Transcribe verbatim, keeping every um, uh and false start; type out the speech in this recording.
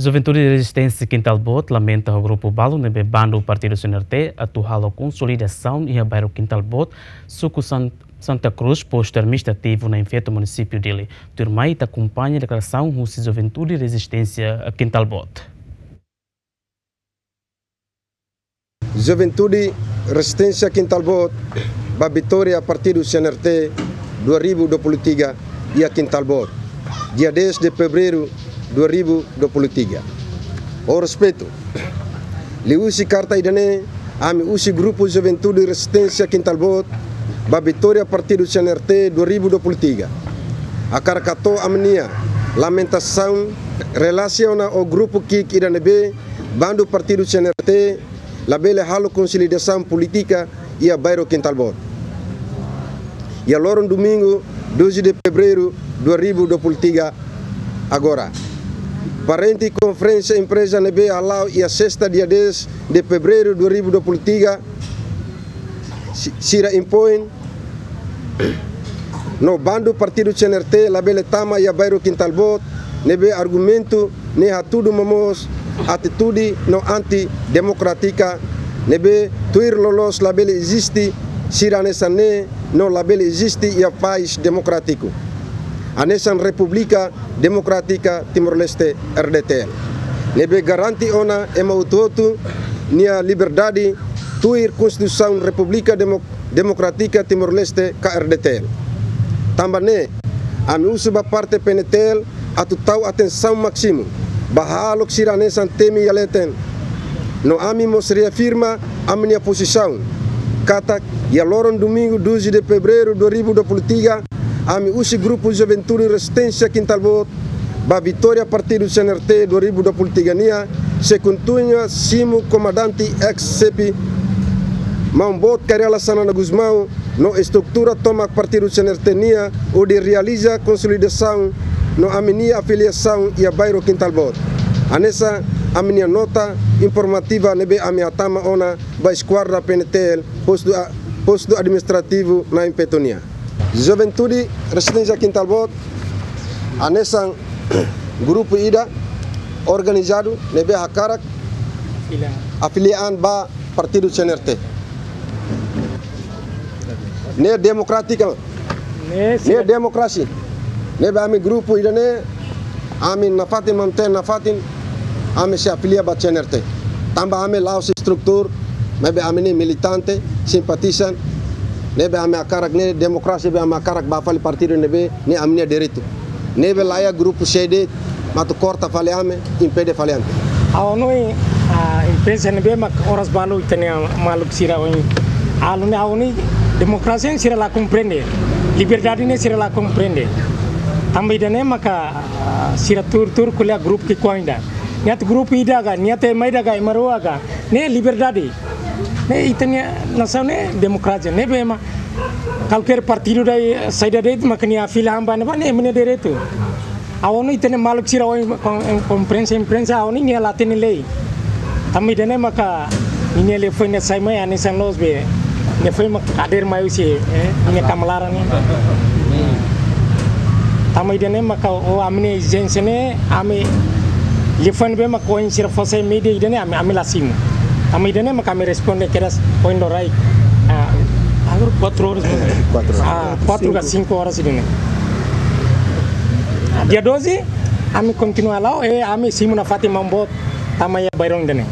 Juventude Rezisténsia Kintal Boot lamenta ho grupu balu ne'ebé bandu partidu C N R T atu halo konsolidasaun iha bairru Kintal Boot, suku San-, Santa Cruz, postu administrativu Nain Feto, munisípiu Dili. Tuirmai ita akompaña deklarasaun husi Juventude Rezisténsia Kintal Boot. Juventude Rezisténsia Kintal Boot ba vitória partidu C N R T dua ribu dua puluh tiga iha Kintal Boot, dia dez de fevereiru dua ribu dua puluh tiga. Ho respeitu, liuhusi karta ida-ne'e, ami husi grupu Juventude Rezisténsia Kintal Boot ba vitória partidu C N R T dua ribu dua puluh tiga hakarak hato'o ami-nia lamentasaun relasiona ho grupu ki'ik ida ne'ebé bandu partidu C N R T labele halo konsolidasaun polítika iha bairru Kintal Boot. Iha loron domingu, doze de fevereiru dua ribu dua puluh tiga agora, parente konferénsia imprensa ne'ebé hala'o iha sesta dia dez de fevereiru dua ribu dua puluh tiga, si-, sira impoin no bandu partidu C N R T labele tama iha bairru Kintal Boot, ne'ebé argumentu ne'e hatudu momoos atitude no anti-demokrátika, ne'ebé tuir loloos labele eziste sira hanesan ne'e no labele eziste iha país demokrátiku hanesan Repúblika Demokrátika Timor-Leste, R D T L, ne'ebé garante ona ema hotu-hotu nia liberdade tuir Konstituisaun Repúblika Demo-, Demokrátika Timor-Leste ka R D T L. Tanba ne'e, ami husu ba parte P N T L atu tau atensaun másimu ba hahalok sira hanesan temi iha leten. No ami mós reafirma ami-nia pozisaun katak iha loron domingu, doze de fevereiru dua ribu dua puluh tiga, ami husi grupu Juventude Rezisténsia Kintal Boot ba vitória partidu C N R T dua ribu dua puluh tiga nian sei kontinua simu komandante ex-xefe Maun Boot Kay Rala Xanana Gusmão no estrutura tomak partidu C N R T nian hodi realiza konsolidasaun no ami-nia afiliasaun iha bairru Kintal Boot, hanesan ami-nia nota informativa ne'ebé ami hatama ona ba eskuadra P N T L, postu a-, postu administrativu Nain Feto nian. Juventude Rezisténsia Kintal Boot hanesan grupu ida organizadu ne'ebé hakarak afilia an ba partidu C N R T. Ne'e demokrátika. Ne'e, ne'e sira demokrasia. Ne'ebé ami grupu ida-ne'e, ami nafatin, mantein nafatin, ami sei afilia ba C N R T. Tanba ami la'ós estrutura, maibé ami ne'e militante, simpatizante, ne'ebé ami hakarak ne'e demokrasia, ne'ebé ami hakarak bá fali partidu ne'ebé ne'e ami-nia direitu. Ne'ebé laiha grupu C D mak atu korta fali ami, impede fali ami. Ha'u hanoin, ah, imprensa ne'ebé mak oras balu ita-nia maluk sira ohin. Halo ne'e ha'u hanoin demokrasia sira la komprende. Liberdade ne'e sira la komprende. Tanba ida-ne'e maka, ah, sira tuur-tuur ko'alia grupu ki'ik oan ida. Nia atu grupu ida ka, nia atu ema ida ka, ema rua ka. Ne'e liberdade. Ne'e ita-nia nasaun ne'e demokrasia. Ne'ebé ema kualkér partidu ida, saida de'it mak nia afilia an ba ne'ebá ne'e ema nia direitu. Ha'u hanoin ita-nia maluk sira ohin kom-, imprensa, imprensa ha'u hanoin nia la hatene lei. Tanba ida-ne'e maka ninia liafuan ne'e sai mai hanesan loos be. Nia foin mak hadeer mai husi, eh, ninia kama laran ne'e. Tanba ida-ne'e maka ho ami-nia ezijénsia ne'e, ami liafuan ne'ebé mak ohin sira fó sai média ida-ne'e ami, ami la simu. Tanba ida-ne'e maka ami responde kedas ohin loraik. Ah, agora quatro horas. Quatro horas. Ah, quatro ka cinco horas ida-ne'e. Ah, dia doze, ami kontinua la'o, eh, ami simu nafatin Maun Boot tama iha bairru ida-ne'e.